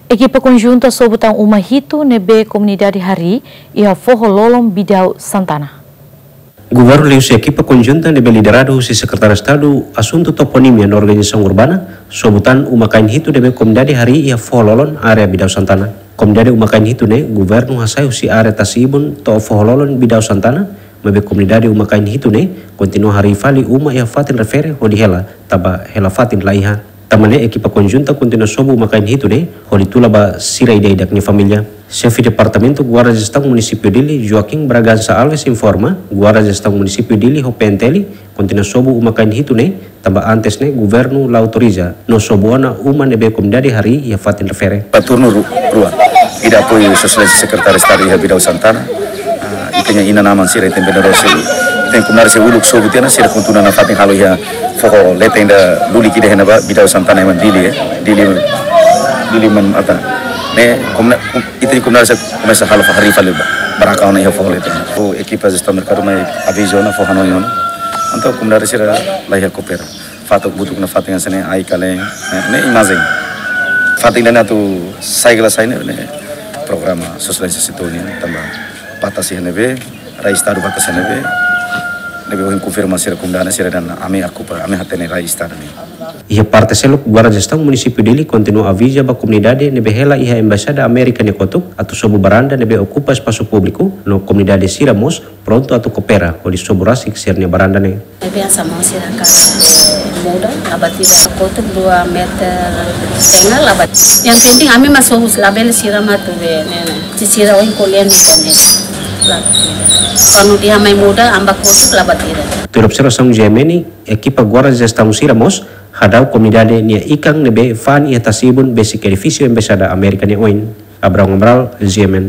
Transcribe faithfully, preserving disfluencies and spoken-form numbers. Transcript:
Ekipa konjunta sobu tan uma hitu ne'ebé komunidade harii iha foho lolon Bidau Santana. Governu liuhusi ekipa konjunta ne'ebé lideradu husi Sekretáriu Estadu Asuntu Toponímia no Organizasaun Urbana, sobu tan uma-kain hitu ne'ebé komunidade harii iha foho lolon área Bidau Santana. Komunidade uma-kain hitu ne'e, governu hasai husi área tasi-ibun to'o foho lolon Bidau Santana, maibé komunidade uma-kain hitu ne'e kontinua harii fali uma iha fatin refere hodi hela, tanba hela-fatin laiha. Tanba ne'e ekipa konjunta kontinua sobu uma-kain hitu ne'e hodi tula ba sira ida-idak nia família. Xefe Departamentu Guarda Jestaun Munisípiu Dili, Joaquim Bragança Alves, informa, Guarda Jestaun Munisípiu Dili ho P N T L kontinua sobu uma-kain hitu ne'e, tanba antes ne'e governu la autoriza no sobu ona uma ne'ebé komunidade harii iha fatin refere. Ba turnu ru-, rua. Ida apoiu Sua Exelénsia Sekretáriu Estadu iha Bidau Santana. Ah, ita-nia inan-aman sira, ita-nia veneradór sira. Ita-nia komunidade sira uluk sobu tiha ona, sira kontinua nafatin halo iha foho leten ida lulik ida iha ne'ebá, Bidau Santana, ema Dili, eh. Dili, Dili man ata. Ne'e, komuna-, kom-, ita-nia komunidade sira komesa halo harii fali ba, baraka ona iha foho leten. O ekipa jestaun merkadu mai avizu ona, fó hanoin ona. Entaun komunidade sira laiha koopera. Fatuk butuk nafatin hanesan ne'e, ai kalen, ne'e, ne'e imajen. Fatin ida-ne'e atu sai ka la sai ne'e, ne'e programa Sua Exelénsia Setu nian, tanba patasi iha ne'ebé, rai Estadu patasi iha ne'ebé, ne'ebé ohin konfirma sira komunidade sira dehan ami okupa, ami hatene rai Estadu nian. Iha parte seluk, Guarda Jestaun Munisípiu Dili kontinua aviza ba komunidade ne'ebé hela iha Embaixada Amérika nia kotuk, atu sobu baranda ne'ebé okupa espasu públiku, no komunidade sira mós prontu atu koopera hodi sobu rasik sira-nia baranda ne'e. Ne'ebé hanesan maun sira ka muda, abatida kotuk dua meter setengah, abat. Yang penting ami mak sobu, labele sira mak atu be, ne'e, ne'e. Se sira ohin ko'alia ne'e, ne'e. La. Kuandu dehan mai muda, ami bá kotuk, la abatida. Tuir observasaun G M N, ekipa Guarda Jestaun sira mós hadau komunidade nia ikan ne'ebé fa'an iha tasi-ibun besik edifísiu Embaixada Amérika nia oin. Abraão Amaral, G M N.